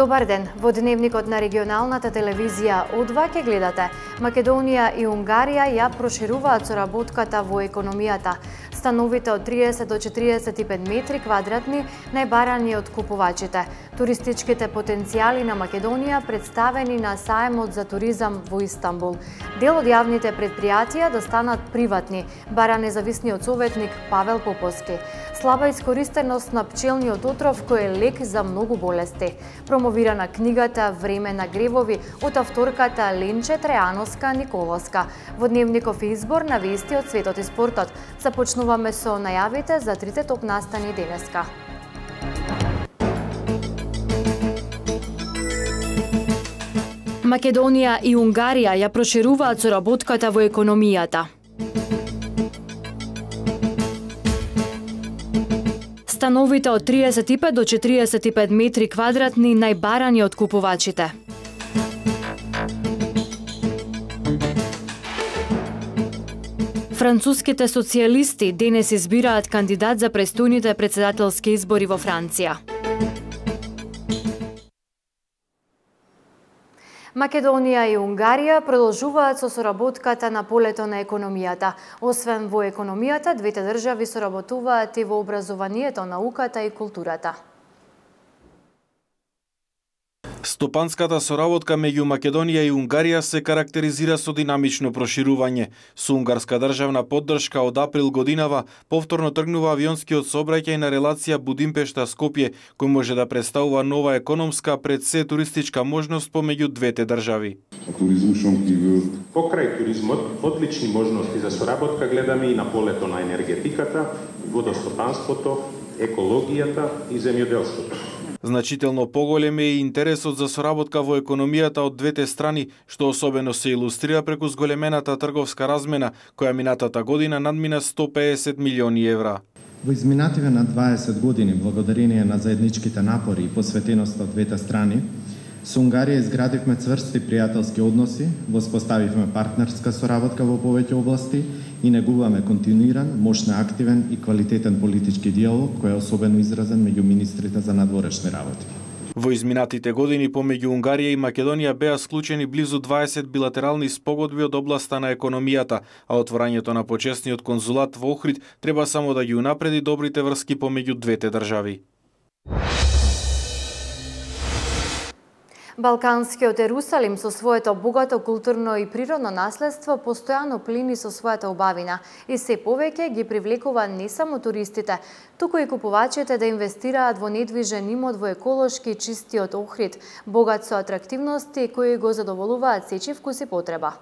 Добар ден, во дневникот на регионалната телевизија О2 ќе гледате. Македонија и Унгарија ја прошируваат соработката во економијата. Становите од 30 до 45 метри квадратни најбарани од купувачите. Туристичките потенцијали на Македонија представени на саемот за туризам во Истанбул. Дел од јавните предпријатија да станат приватни, бара независниот советник Павел Поповски. Слаба искористеност на пчелниот отров кој е лек за многу болести. Промовирана книгата Време на гревови од авторката Ленче Трејановска Николовска. Во дневников избор на вести од светот и спортот. Започнуваме со најавите за трите топ настани денеска. Македонија и Унгарија ја прошируваат соработката во економијата. Становите од 35 до 45 метри квадратни најбарани од купувачите. Француските социјалисти денес избираат кандидат за престојните претседателски избори во Франција. Македонија и Унгарија продолжуваат со соработката на полето на економијата. Освен во економијата, двете држави соработуваат и во образованието, науката и културата. Стопанската соработка меѓу Македонија и Унгарија се карактеризира со динамично проширување. Со унгарска државна поддршка од април годинава повторно тргнува авионскиот сообраќај на релација Будимпешта-Скопје, кој може да представува нова економска пред се туристичка можност помеѓу двете држави. Покрај туризмот, одлични можности за соработка гледаме и на полето на енергетиката, водостопанството, екологијата и земјоделството. Значително поголем е и интересот за соработка во економијата од двете страни, што особено се илустрира преку зголемената трговска размена, која минатата година надмина 150 милиони евра. Во изминативе на 20 години, благодарение на заедничките напори и посветеност од двете страни, со Унгарија изградивме цврсти пријателски односи, воспоставивме партнерска соработка во повеќе области и негуваме континуиран, мощно активен и квалитетен политички диалог кој е особено изразен меѓу министрите за надворешни работи. Во изминатите години помеѓу Унгарија и Македонија беа склучени близу 20 билатерални спогодби од областа на економијата, а отворањето на почесниот конзулат во Охрид треба само да ги унапреди добрите врски помеѓу двете држави. Балканскиот Ерусалим со своето богато културно и природно наследство постојано плини со својата убавина и се повеќе ги привлекува не само туристите, туку и купувачите да инвестираат во недвижен имот во еколошки чистиот Охрид, богат со атрактивности кои го задоволуваат сечи вкус и потреба.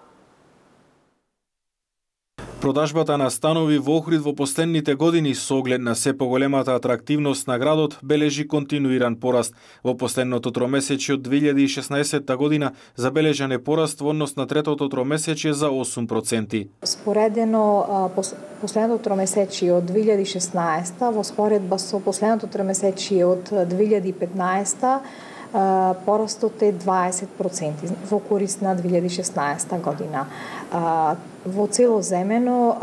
Продажбата на станови во Охрид во последните години со оглед на се поголемата атрактивност на градот бележи континуиран пораст. Во последното тромесечје од 2016 година забележан е пораст во однос на третото тромесечје за 8%. Споредено последното тромесечје од 2016 во споредба со последното тромесечје од 2015 порастот е 20% во корист на 2016 година. Во целоземено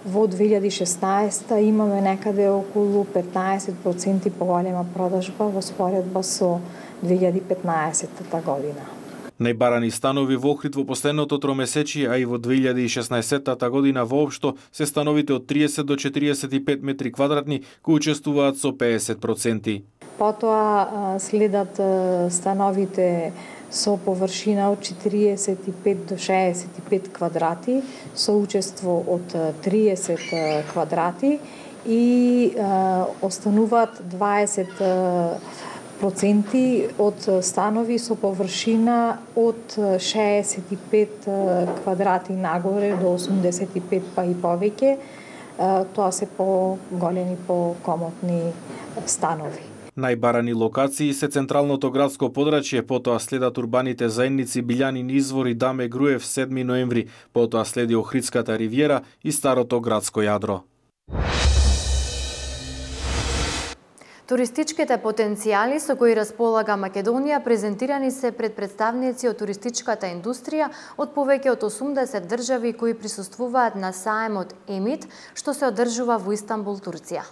во 2016 имаме некаде околу 15% поголема продажба во споредба со 2015 година. Најбарани станови во Охрид во последното тромесечие, а и во 2016 година воопшто се становите од 30 до 45 метри квадратни кои учествуваат со 50%. Потоа следат становите со површина од 45 до 65 квадрати, со учество од 30 квадрати и остануваат 20% од станови со површина од 65 квадрати нагоре до 85 па и повеќе. Тоа се поголеми, покомотни станови. Најбарани локации се централното градско подрачје, потоа следат урбаните заедници Билјанин извор и Даме Груев 7 ноември, потоа следи Охридската ривиера и старото градско јадро. Туристичките потенцијали со кои располага Македонија презентирани се пред представници од туристичката индустрија од повеќе од 80 држави кои присуствуваат на саемот ЕМИТ, што се одржува во Истанбул, Турција.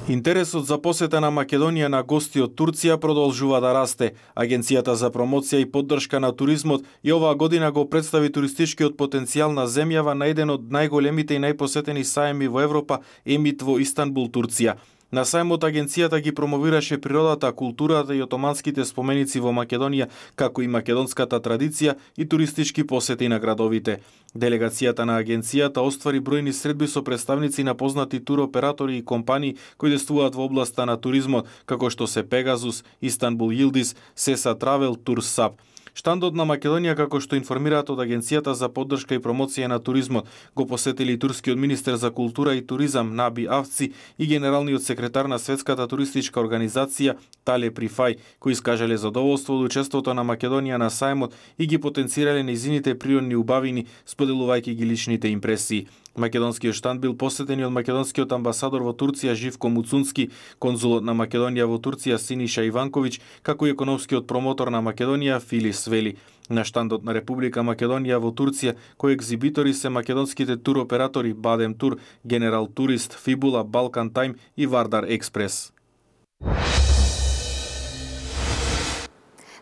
Интересот за посета на Македонија на гости од Турција продолжува да расте. Агенцијата за промоција и поддршка на туризмот и оваа година го представи туристичкиот потенцијал на земјава на еден од најголемите и најпосетени саеми во Европа, Емит во Истанбул, Турција. На сајмот агенцијата ги промовираше природата, културата и отоманските споменици во Македонија, како и македонската традиција и туристички посети на градовите. Делегацијата на агенцијата оствари бројни средби со представници на познати туроператори и компании кои действуваат во областа на туризмот, како што се Пегазус, Истанбул Йилдиз, Сеса Травел, Турсап. Штандот на Македонија, како што информираат од Агенцијата за поддршка и промоција на туризмот, го посетили и турскиот министер за култура и туризам Наби Авци и генералниот секретар на Светската туристичка организација Тале Прифај, кои искажале задоволство од учеството на Македонија на сајмот и ги потенцирале нејзините природни убавини, споделувајќи ги личните импресии. Македонскиот штанд бил посетен од македонскиот амбасадор во Турција Живко Муцунски, конзулот на Македонија во Турција Синиша Иванковиќ, како и економскиот промотор на Македонија Филис Вели. На штандот на Република Македонија во Турција, кои екзибитори се македонските туроператори Бадем Тур, Генерал Турист, Фибула, Балкан Тајм и Вардар Експрес.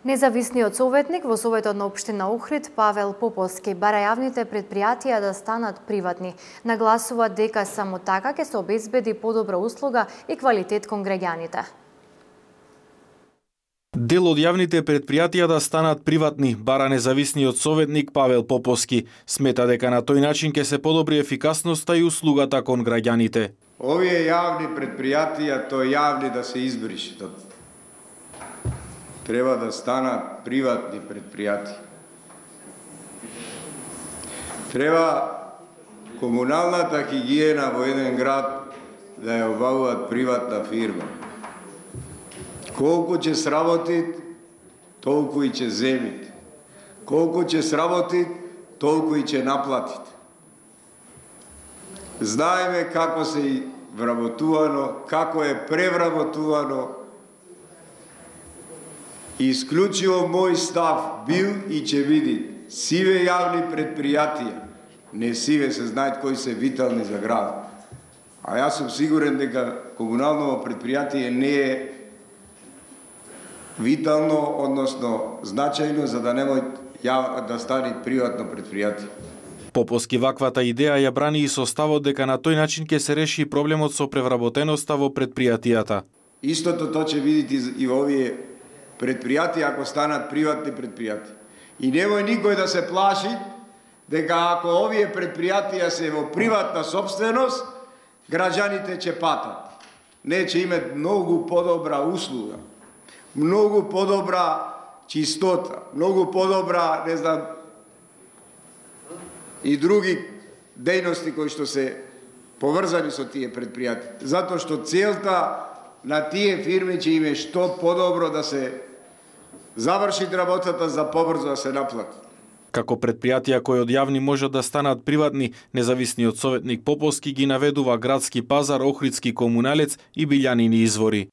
Независниот советник во Советот на општина Охрид Павел Поповски бара јавните предпријатија да станат приватни. Нагласува дека само така ќе се обезбеди подобра услуга и квалитет кон граѓаните. Дел од јавните предпријатија да станат приватни, бара независниот советник Павел Поповски. Смета дека на тој начин ќе се подобри ефикасноста и услугата кон граѓаните. Овие јавни предпријатија, тоа јавни да се избришат. Треба да станат приватни предпријатија. Треба комуналната хигиена во еден град да ја обавуваат приватна фирма. Колку ќе сработи, толку и ќе земите. Колку ќе сработи, толку и ќе наплатите. Знаеме како се вработувано, како е превработувано. Исклучиво мој став бил и ќе види сиве јавни предпријатија, не сиве се знаат кои се витални за град. А јас сум сигурен дека комунално предпријатие не е витално, односно значајно за да немој да стане приватно предпријатие. Поповски ваквата идеја ја брани и со ставот дека на тој начин ќе се реши проблемот со превработеноста во предпријатијата. Истото тоа ќе видите и во овие предпријатија ако станат приватни предпријатија. И немој никој да се плаши дека ако овие предпријатија се во приватна собственост, граѓаните ќе патат. Не, ќе имат многу подобра услуга, многу подобра чистота, многу подобра, не знам, и други дејности кои што се поврзани со тие предпријатија. Затоа што целта на тие фирми ќе име што подобро да се заврши работата за побрзо да се наплати. Како предпријатија кои од јавни можат да станат приватни, независниот советник Поповски ги наведува Градски пазар, Охридски комуналец и Билјанини извори.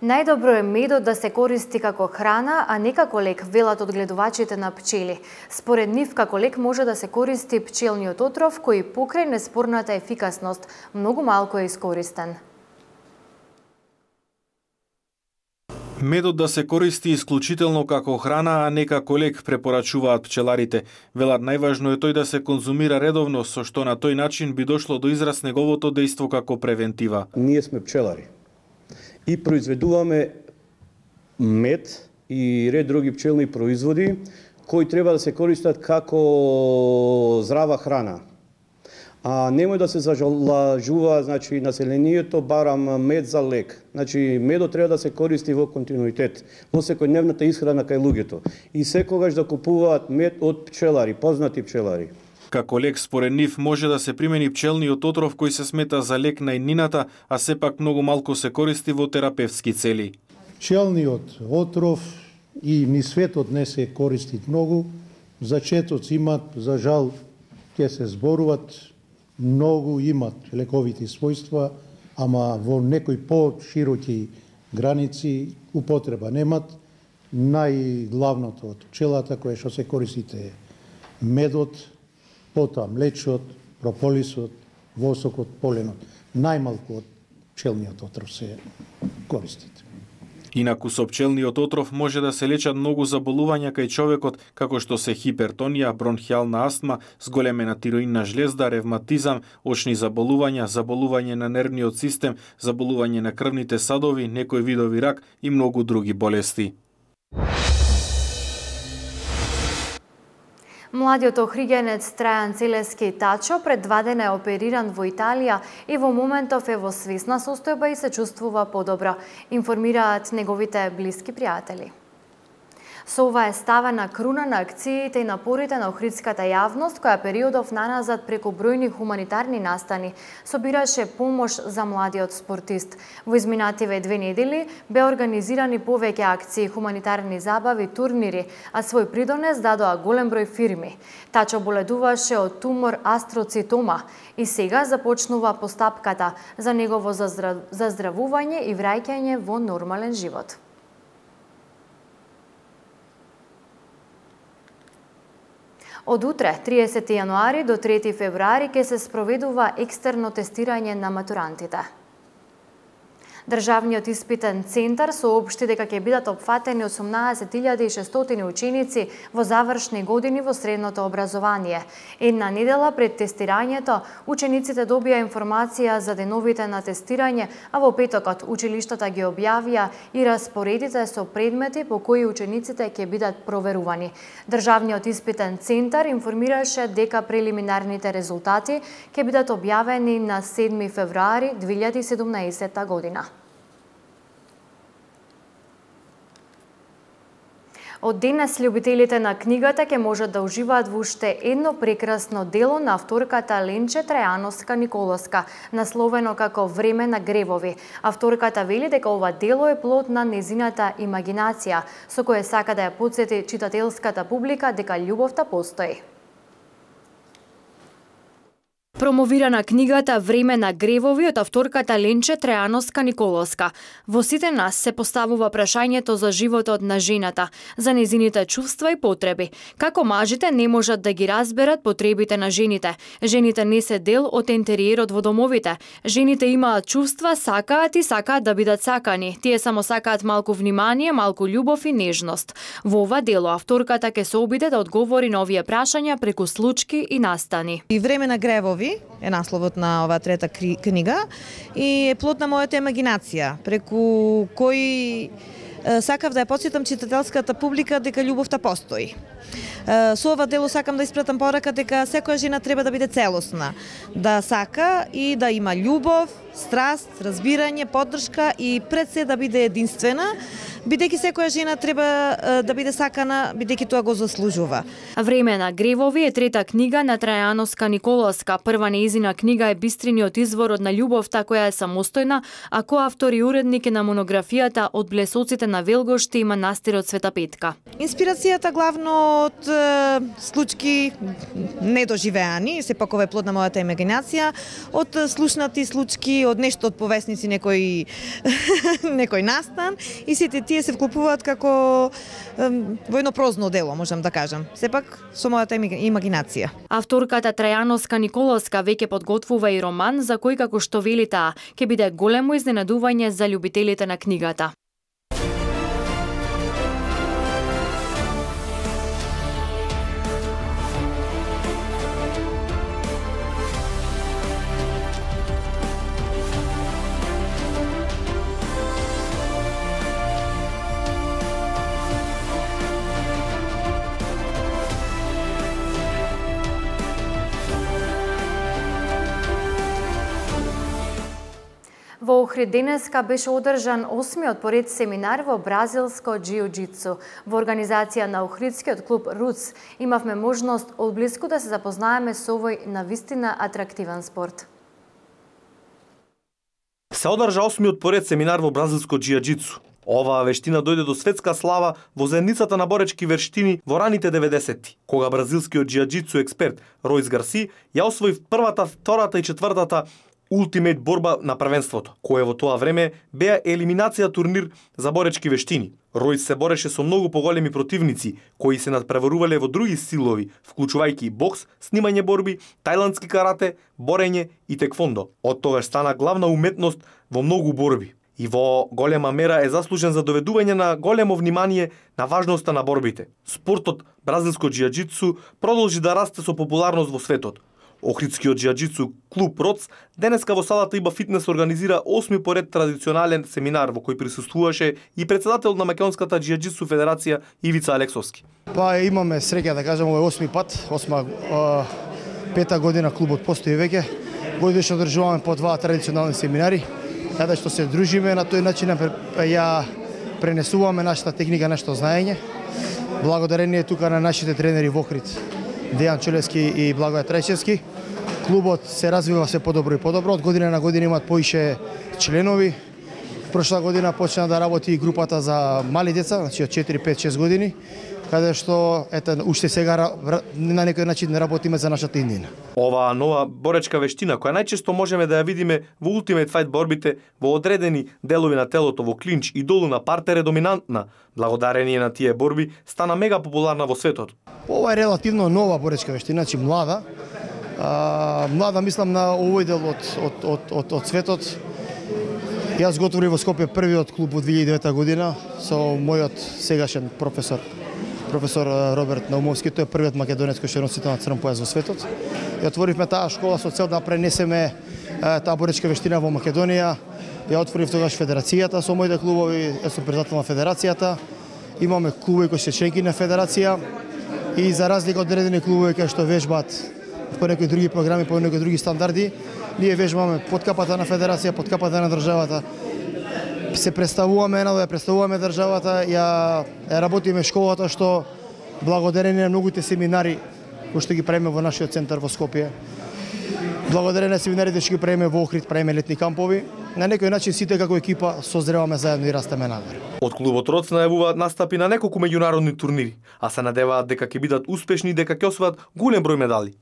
Најдобро е медот да се користи како храна, а не како лек, велат одгледувачите на пчели. Според нив, како лек може да се користи пчелниот отров, кој покрај неспорната ефикасност многу малку е искористен. Медот да се користи исклучително како храна, а не како лек, препорачуваат пчеларите. Велат најважно е тој да се конзумира редовно, со што на тој начин би дошло до израз неговото дејство како превентива. Ние сме пчелари и произведуваме мед и ред други пчелни производи кои треба да се користат како здрава храна. А немој да се зажалажува, значи населението барам мед за лек. Значи медот треба да се користи во континуитет, во секојдневната исхрана кај луѓето и секогаш да купуваат мед од пчелари, познати пчелари. Како лек според нив може да се примени пчелниот отров кој се смета за лек на иднината, а сепак многу малку се користи во терапевтски цели. Пчелниот отров и ни светот не се користи многу, зачетоци имат, за жал ќе се зборуват, многу имат лековити својства, ама во некои по-широки граници употреба немат. Најглавното од пчелата кое што се користите медот, потоа млечот, прополисот, восок од поленот. Најмалку од пчелниот отров се користат. Инаку со пчелниот отров може да се лечат многу заболувања кај човекот, како што се хипертонија, бронхијална астма, зголемена тироидна жлезда, ревматизам, очни заболувања, заболување на нервниот систем, заболување на крвните садови, некои видови рак и многу други болести. Младиот охригенец Трајан Целески Тачо пред 2 дена е опериран во Италија и во моментов е во свесна состојба и се чувствува подобро, информираат неговите блиски пријатели. Со ова е ставена круна на акциите и напорите на охридската јавност, која периодов наназад преку бројни хуманитарни настани собираше помош за младиот спортист. Во изминативе 2 недели бе организирани повеќе акции, хуманитарни забави, турнири, а свој придонес дадоа голем број фирми. Тачо боледуваше од тумор астроцитома и сега започнува постапката за негово заздравување и враќање во нормален живот. Од утре, 30 јануари до 3 февруари, ќе се спроведува екстерно тестирање на матурантите. Државниот испитен центар соопшти дека ќе бидат опфатени 18.600 ученици во завршни години во средното образование. Една недела пред тестирањето, учениците добија информација за деновите на тестирање, а во петокот училиштата ги објавија и распоредите со предмети по кои учениците ќе бидат проверувани. Државниот испитен центар информираше дека прелиминарните резултати ќе бидат објавени на 7 февруари 2017 година. Од денес љубителите на книгата ќе можат да уживаат во уште едно прекрасно дело на авторката Ленче Трајановска-Николовска, насловено како Време на гревови. Авторката вели дека ова дело е плод на незината имагинација, со кое сака да ја потсети читателската публика дека љубовта постои. Промовирана книгата Време на гревови од авторката Ленче Трајановска-Николовска. Во сите нас се поставува прашањето за животот на жената, за незините чувства и потреби. Како мажите не можат да ги разберат потребите на жените. Жените не се дел од интериерот во домовите. Жените имаат чувства, сакаат и сакаат да бидат сакани. Тие само сакаат малку внимание, малку љубов и нежност. Во ова дело авторката ќе се обиде да одговори на овие прашања преку случки и настани. И Време на гревови е насловот на оваа трета книга и е плод на мојата имагинација, преку кој сакав да ја потсетам читателската публика дека љубовта постои. Со ова дело сакам да испратам порака дека секоја жена треба да биде целосна, да сака и да има љубов, страст, разбирање, поддршка и пред се да биде единствена, бидејќи секоја жена треба да биде сакана, бидејќи тоа го заслужува. Време на гревови е трета книга на Трајановска-Николовска. Прва неизина книга е бистриниот изворот на љубовта која е самостојна, а коавтор и уредник е на монографијата Од блесоците на Велгошти и манастирот Света Петка. Инспирацијата главно од случки недоживеани, сепак ова е плод на мојата имагинација, од слушнати случки, од нешто од повесници некој настан и сите тие се вклопуваат како во едно прозно дело, можам да кажам. Сепак со мојата имагинација. Авторката Трајановска-Николовска веќе подготвува и роман за кој, како што вели таа, ќе биде големо изненадување за љубителите на книгата. Во Охрид денеска беше одржан 8-миот поред семинар во бразилско џиу-џитсу. Во организација на Охридскиот клуб Руц имавме можност одблиску да се запознаеме со овој навистина атрактивен спорт. Се одржа 8-миот поред семинар во бразилско џиу-џитсу. Оваа вештина дојде до светска слава во заедницата на боречки вештини во раните 90-ти, кога бразилскиот џиу-џитсу експерт Ројс Гарси ја освои првата, втората и четвртата Ултимейт борба на првенството, кое во тоа време беа елиминација турнир за боречки вештини. Ројс се бореше со многу поголеми противници, кои се надпреварувале во други стилови, вклучувајќи бокс, снимање борби, тајландски карате, борење и теквондо. Од тогаш стана главна уметност во многу борби. И во голема мера е заслужен за доведување на големо внимание на важноста на борбите. Спортот бразилско џиаџицу продолжи да расте со популарност во светот. Охридскиот џиаџицу клуб РОЦ денеска во салата Иба Фитнес организира 8ми поред традиционален семинар во кој присуствуваше и председател на Македонската џиаџицу федерација Ивица Алексовски. Па имаме среќа да кажам, ова е 8ми пат, 5-та година клубот постои веќе. Годишно одржуваме по 2 традиционални семинари, каде што се дружиме на тој начин ја пренесуваме нашата техника, нашето знаење. Благодарение тука на нашите тренери во Охрид, Дејан Челевски и Благоја Трајчевски. Клубот се развива се подобро и подобро. Од година на година имаат поише членови. Прошла година почна да работи и групата за мали деца, значи од 4, 5, 6 години, каде што уште сега на некој начин работиме за нашата иднина. Оваа нова боречка вештина, која најчесто можеме да ја видиме во Ultimate Fight борбите во одредени делови на телото, во клинч и долу на партер, е доминантна. Благодарение на тие борби стана мега популарна во светот. Ова е релативно нова боречка вештина, значи млада. Млада мислам на овој дел од светот. Јас го отворив во Скопје првиот клуб во 2009 година со мојот сегашен професор Роберт Наумовски. Тој е првиот македонец кој што носи на црн појас во светот. Ја отворивме таа школа со цел да пренесеме таа боречка вештина во Македонија. Ја отворив тогаш федерацијата со моите клубови, јас сум председател на федерацијата. Имаме клубови кои се членки на федерација и за разлика од одредени клубови кои што вежбаат по некои други програми, по некои други стандарди, ние вежбаме под капата на федерација, под капата на државата. Се представуваме ја представуваме државата, ја работиме школата што благодарение на многуте семинари кои што ги правиме во нашиот центар во Скопје. Благодарение на семинарите што ги правиме во Охрид, правиме летни кампови. На некој начин сите како екипа созреваме заедно и растеме нагоре. Од клубот РОЦ најавуваат настапи на неколку меѓународни турнири, а се надеваат дека ќе бидат успешни и дека ќе освојат голем број медали.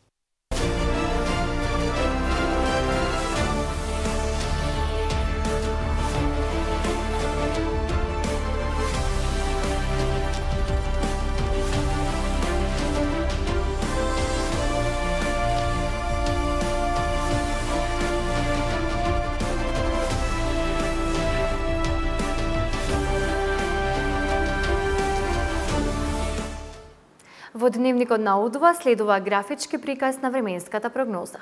Во дневникот на Удва следува графички приказ на временската прогноза.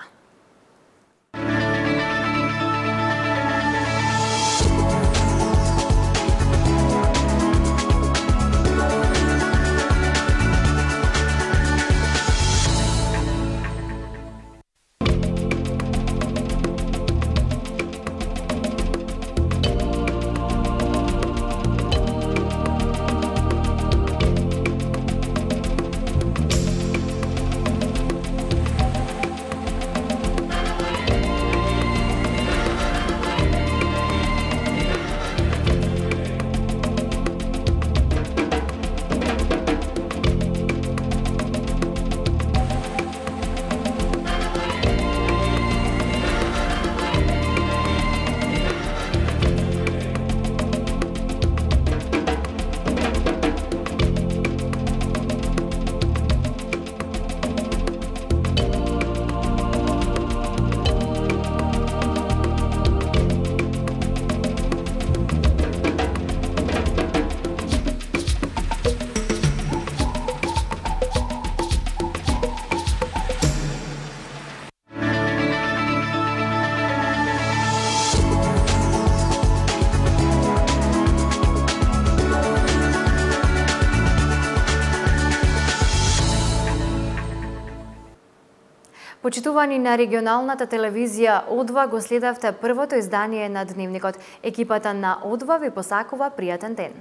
Почитувани на регионалната телевизија Одва, го следавте првото издание на Дневникот. Екипата на Одва ви посакува пријатен ден.